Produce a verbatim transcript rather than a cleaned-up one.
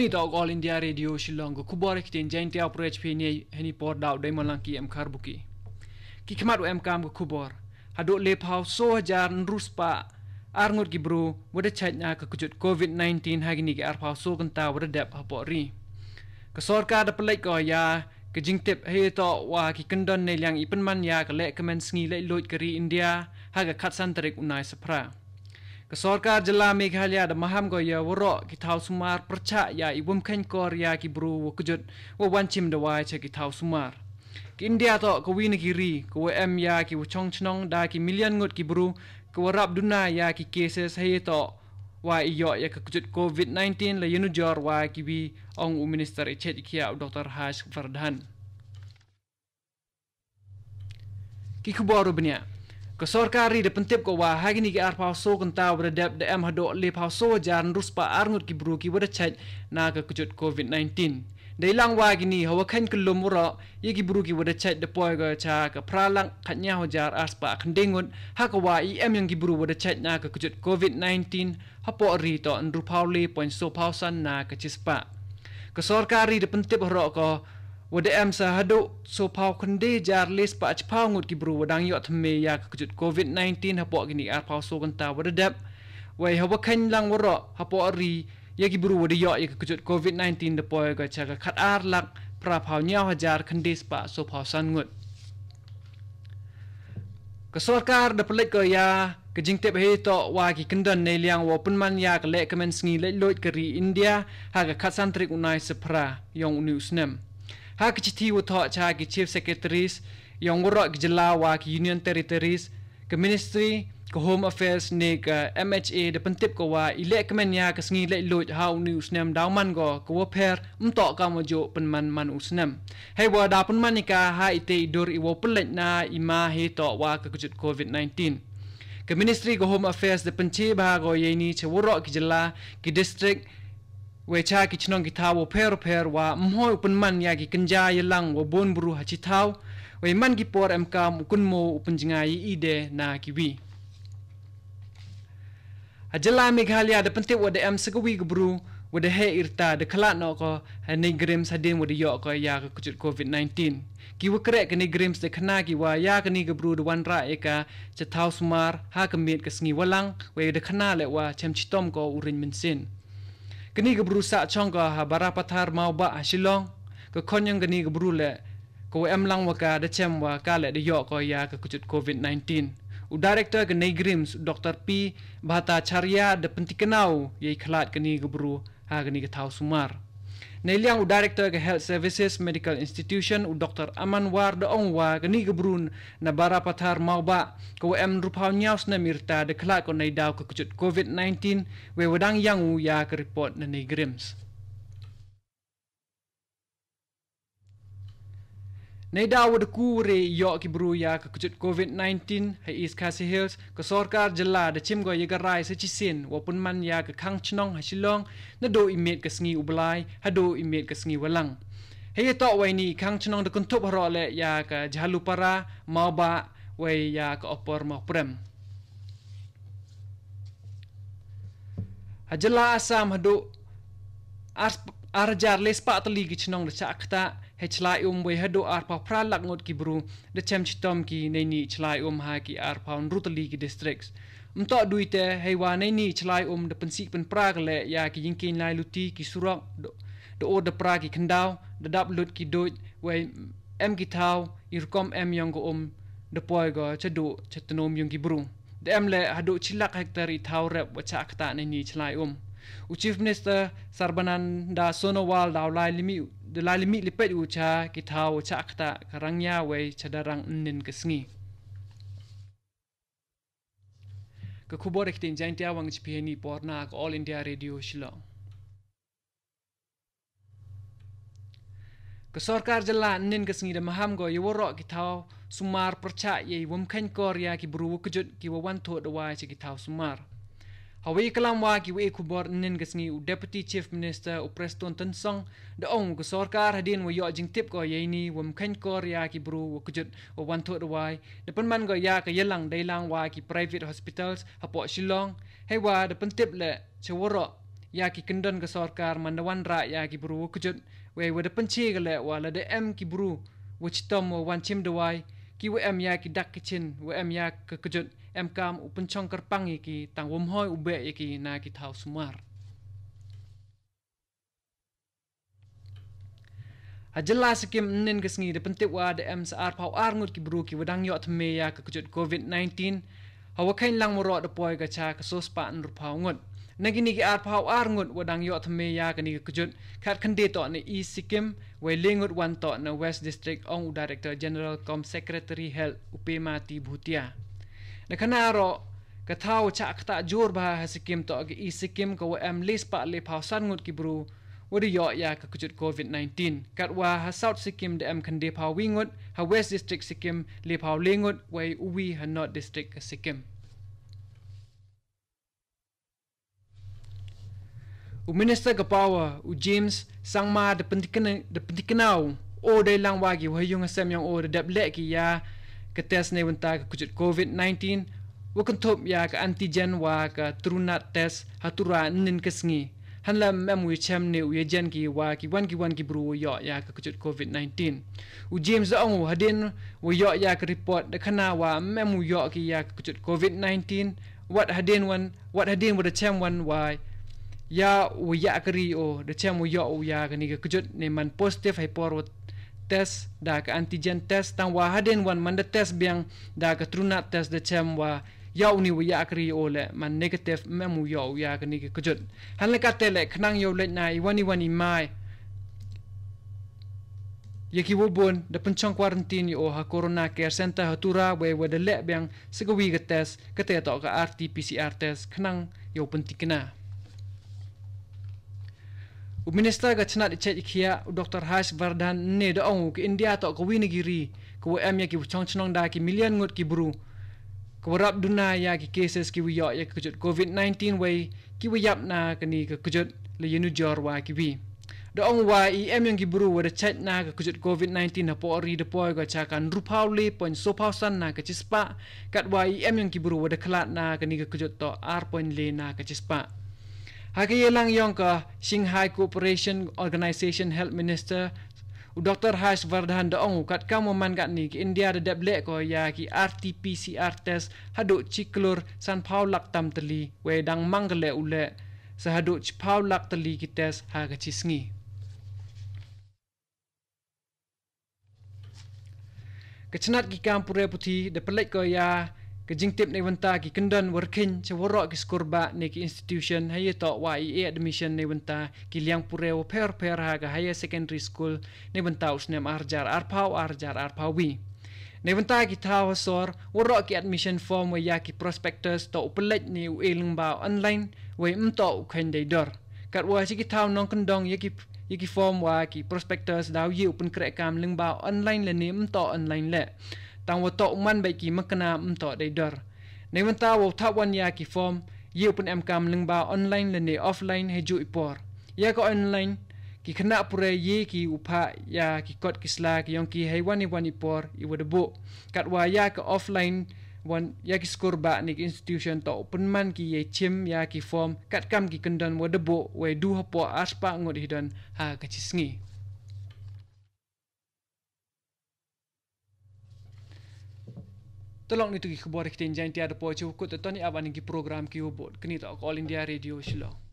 Ngi toh All India Radio Shillong, ka khubor ha ktien Jaiñtia, u pyrshah phi ne hani por da u Daimalang ki em khar buki. Ki khmat u em kam ka khubor. Haduh le phaw so hajar ynru spah ar ngut ki bru wa da chait na ka kjut covid nineteen ha kini ki ar phaw so kynta wa da dep hapoh ri. Ka sorkar da pynlait ko ya ka jingtip hei toh wa ki kyndon ne liang i pynman ya ka leh kmen sngi leh luid ka ri India ha ka khatsan tarik u Naisaphra. Ka sorkar jylla Meghalaya da maham ko ya waroh ki thaw sumar pyrchah ya i wym kheiñ kor ya ki bru wa kjut wa wan chim dawai cha ki thaw sumar. Ka India toh ka wi na ki ri ka wa em ya ki wa chong chnong da ki million ngut ki bru ka wa rap duna ya ki cases hei toh wa i yoh ya ka kjut covid nineteen la yanujor wa ki wi, ong u minister i chet i khia u Dr Harsh Vardhan. Ki khubor u bniah. Ka sorkar ri da pyntip ko wa ha kini ki ar phaw so kynta wa da dep da em haduh le phaw so hajar ynru spah ar ngut ki bru ki wa da chait na ka kjut covid nineteen. Dei lang wa kini ha wa kheiñ kyllum waroh ya ki bru ki wa da chait da poi ko cha ka phra lak khatñiaw hajar ar spah khyndai ngut, ha ka wa i em yong ki bru wa da chait na ka kjut covid nineteen hapoh ri toh ynru phaw le point so phaw san na ka chispah. Ka sorkar ri da pyntip haroh ko wa da em sa haduh so phaw khyndai hajar le spah chiphaw ngut ki bru wa dang yoh thymme ya ka kjut covid nineteen hapoh kini ar phaw so kynta wa da dep. Wei ha wa kheiñ lang waroh hapoh ri ya ki bru wa da yoh ya ka kjut covid nineteen da poi ko cha ka khat ar lak phra phaw ñiaw hajar khyndai spah so phaw san ngut. Ka sorkar da pynlait ko ya ka jingtip hei toh wa ki kyndon ne liang wa pynman ya ka leh kmen sngi leh luid ka ri India ha ka khatsan tarik u Naisaphra yong u ni u snem. Ha ka chithi wa thoh cha ki chief secretaries yong waroh ki jylla wa ki union territories, ka ministry ka Home Affairs ne ka M H A da pyntip ko wa i leh kmen ya ka sngi leh luid ha u ni u snem daw man ko ka wa pher, ym toh kam wa juh pynman man u snem. Hei wa da pynman i ka ha i te i dur i wa pynlait na i ma hei toh wa ka kjut covid nineteen. Ka ministry ka Home Affairs da pynche bha ko ya ini cha waroh ki jylla, ki district, wei cha ki chnong ki thaw wa pher pher wa mhoi u pynman ya ki kynja ya lang wa bun bru ha chi thaw, wei man ki por em kam u kynmo u pynjngai i de na ki wi. Ha jylla Meghalaya da pyntip wa da em sa ka wi ka bru wa da heh irta da khlad noh ko ha NEIGRIHMS hadien wa da yoh ko ya ka kjut covid nineteen. Ki wa kreh ka NEIGRIHMS da khana ki wa ya kani ka bru da wan rah ya ka cha thaw sumar ha ka miet ka sngi wa lang, wei da khana le wa chem chitom ko u ring mynsiem. Kani ka bru sah chong ka ha Barapathar Mawbah ha Shillong. Ka khon yong kani ka bru le ka wa em lang wa ka da chem wa ka le da yoh ko ya ka kjut covid nineteen. U director ka NEIGRIHMS u Dr P Bhattacharya da pyntikna u ya i khlad kani ka bru ha kani ka thaw sumar. Ne liang u director ka Health Services Medical Institution u Dr Aman War da ong wa kani ka bru na Barapathar Mawbah ka wa em ynru phaw ñiaw snem irta da khlad ko nei daw ka kjut covid nineteen, wei wa dang yang u ya ka report na NEIGRIHMS. Nei daw wa da ku re yoh ki bru ya ka kjut covid nineteen ha East Khasi Hills, ka sorkar jylla da chim ko ya ka rai sa chisien wa pynman ya ka khang chnong ha Shillong naduh i miet ka sngi u Blai haduh i miet ka sngi wa lang. Hei ya toh wei ni i khang chnong da kynthup haroh le ya ka Jhalupara, Mawbah, wei ya ka Upper Mawprem. Ha jylla Assam haduh ar, ar hajar le spah tylli ki chnong da chah ktah hei chlai um, wei haduh ar phaw phra lak ngut ki bru da chem chitom ki nei ni chlai um ha ki ar phaw ynru tylli ki districts. Ym toh dui te hei wa nei ni chlai um da pynsih pynpra ka le ya ki yingkieñ lai luti, ki surok da, da ur da pra ki khyndaw, da dap lut ki duid, wei em ki thaw i rukom em yong ka um da poi ko cha duh cha tnum yong ki bru. Da em le haduh chi lak hektar i thaw rep wa chah ktah nei ni chlai um. U Chief Minister Sarbananda Sonowal da u lai limih, da lai limih lipet u cha ki thaw wa chah ktah ka Rangya wei cha Darrang ynnin ka sngi. Ka khubor ha ktien Jaiñtia wa ngi chipi ha ini i por na ka All India Radio Shillong. Ka sorkar jylla ynnin ka sngi da maham ko ya waroh ki thaw sumar pyrchah ya i wym kheiñ kor ya ki bru wa kjut ki wa wan thoh dawai cha ki thaw sumar. Ha wei i klam wa ki wei i khubor ynnin ka sngi u Deputy Chief Minister u Prestone Tynsong da ong ka sorkar hadien wa yoh jingtip ko ya ini wym kheiñ kor ya ki bru wa kjut wa wan thoh dawai da pynman ko ya ka yalang dei lang wa ki private hospitals hapoh Shillong, hei wa da pyntip le cha waroh ïa ki kyndon ka sorkar man da wanrah ïa ki bru wa kjut, wei wa da pynche ka leh wa lada em ki bru wa chitom wa wan chim dawai, ki wa em ïa ki dak ki chin wa em ïa ka kjut, em kam u pynchong kyrpang ïa ki, tang wam hoi u beh ïa ki na ki thaw sumar. Ha jylla Sikkim ynnin ka sngi da pyntip wa da em sa arphaw ar ngut ki bru ki wa dang ïoh thymme ïa ka kjut covid nineteen. Ha wa kheiñ lang waroh da poi ka cha ka sospah hynriewphaw ngut. Na kini ki arphaw ar ngut wa dang ïoh thymme ïa kani ka kjut, khat khynde toh na East Sikkim, wei le ngut wan toh na West District, ong u Director General cum Secretary Health u Pema T Bhutia. Na kane ruh, ka thaw chah ktah jur bha ha Sikkim toh ka East Sikkim ka wa em le spah le phaw san ngut ki bru wa da ïoh ïa ka kjut covid nineteen. Katwa ha South Sikkim da em khynde phaw wi ngut, ha West District Sikkim le phaw le ngut, wei u wi ha North District ka Sikkim. U Minister ka Power, u James Sangma da pyntikna-, da pyntikna u, o dei lang wa ki wa ha yung ha sem yong o da dep leh ki ïa ka test ne wynta ka kjut covid nineteen, wa kynthup ïa ka antigen wa ka TrueNat test ha Tura ynnin ka sngi. Hanla ym em u ïa chem ne u ïa jen ki wa ki wan ki wan ki bru wa ïoh ïa ka kjut covid nineteen. U James da ong u hadien wa ïoh ïa ka report da khana wa ym em u ïoh ki ïa ka kjut covid nineteen, wat hadien wan, wat hadien wa da chem wan wa ïa u ïa ka ri o, da chem u ïoh u ïa kani ka kjut ne man positive ha i por wa test da ka antigen test, tang wa hadien wan man da test biang da ka TrueNat test da chem wa ïa u ni wa ïa ka ri o le man negative, ym em u ïoh u ïa kani ka kjut. Hanla kate le khnang ïa u leit na i wan i wan i mai ïa ki wa bun da pynchong quarantine ïa o ha Corona Care Center ha Tura, wei wa da leh biang sa ka wi ka test, kate toh ka R T P C R test, khnang ïa u pyntikna. U Minister ka chnat i chait i khiah, u Doctor Harsh Vardhan, ne da ong u ka India toh ka wi na ki ri ka wa em ïa ki wa chong chnong da ki million ngut ki bru ka wa rap duna ïa ki cases ki wa ïoh ïa ka kjut covid nineteen, wei ki wa ïap na kani ka kjut la ïa nujor wa ki wi. Da ong wa i em yong ki bru wa da chait na ka kjut covid nineteen ha pori da poi ka cha ka hynriewphaw le point sophaw san na ka chispah, katwa i em yong ki bru wa da khlad na kani ka kjut toh ar point le na ka chispah. Ha ka ïalang yong ka Shanghai Cooperation Organization Health Minister, u Doctor Harsh Vardhan da ong u katkam wa man katni ka India da dep leh ko ïa ki R T P C R test haduh chi klur sanphaw lak tam tylli, wei dang mang ka leh u leh sa haduh chiphaw lak tylli ki test ha ka chi sngi. Ka chnat ki kam pure puthi da pynleit ko ïa ka jingtip ne wynta ki kyndon wa rkhiñ cha waroh ki skur ba ne ki institution ha ïa toh wa i e admission ne wynta ki liang pure wa pher pher ha ka higher secondary school ne wynta u snem ar hajar arphaw, ar hajar arphaw wi. Ne wynta ki thaw ha sor, waroh ki admission form wa ïa ki prospectus toh u pynleit ne u e lyngba online, wei ym toh u kheiñ dei dor. Katwa chi ki thaw nongkyndong ïa ki, ïa ki form wa ki prospectus daw ïa u pynkreh kam lyngba online lane ym toh online le. Tang wa toh u man bad ki makna ym toh dei dor. Ne wynta wa u thap wan ïa ki form, ïa u pynem kam lyngba online lane offline ha ju i por. Ïa ka online, ki khynnah pure ïa ki u phah ïa ki kot ki sla ki yong ki ha i wan i wan i por i wa da buh. Katwa ïa ka offline, wan ïa ki skur ba ne ki institution toh u pynman ki ïa chim ïa ki form katkam ki kyndon wa da buh, wei du hapoh ar spah ngut hi don ha ka chi sngi. Tolok ni tu ki khubor ki ktien Jaiñtia da poi chi wa kut, te toni aban ki program ki wa bud. Kani toh ka All India Radio Shillong.